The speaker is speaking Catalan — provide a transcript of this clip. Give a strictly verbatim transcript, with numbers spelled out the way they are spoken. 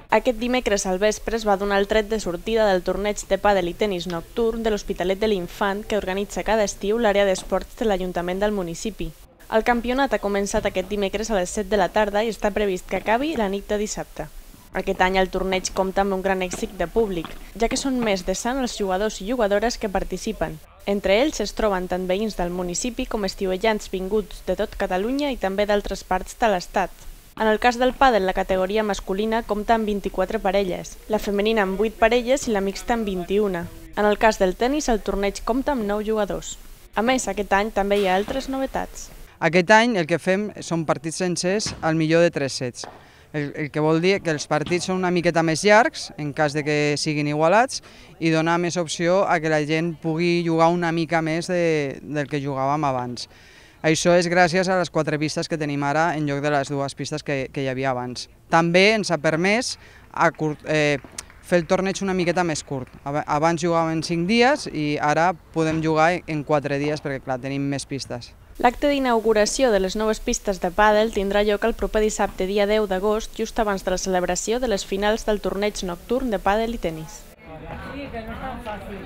Aquest dimecres al vespre es va donar el tret de sortida del torneig de pàdel i tenis nocturn de l'Hospitalet de l'Infant que organitza cada estiu l'àrea d'esports de l'Ajuntament del municipi. El campionat ha començat aquest dimecres a les set de la tarda i està previst que acabi la nit de dissabte. Aquest any el torneig compta amb un gran èxit de públic, ja que són més de cent els jugadors i jugadores que participen. Entre ells es troben tant veïns del municipi com estiuejants vinguts de tot Catalunya i també d'altres parts de l'Estat. En el cas del pàdel, la categoria masculina compta amb vint-i-quatre parelles, la femenina amb vuit parelles i la mixta amb vint-i-una. En el cas del tenis, el torneig compta amb nou jugadors. A més, aquest any també hi ha altres novetats. Aquest any el que fem són partits sencers al millor de tres sets, el, el que vol dir que els partits són una miqueta més llargs, en cas de que siguin igualats, i donar més opció a que la gent pugui jugar una mica més de, del que jugàvem abans. Això és gràcies a les quatre pistes que tenim ara en lloc de les dues pistes que, que hi havia abans. També ens ha permès a curt, eh, fer el torneig una miqueta més curt. Abans jugàvem en cinc dies i ara podem jugar en quatre dies perquè clar, tenim més pistes. L'acte d'inauguració de les noves pistes de pàdel tindrà lloc el proper dissabte dia deu d'agost, just abans de la celebració de les finals del torneig nocturn de pàdel i tenis. Sí, que no és tan fàcil.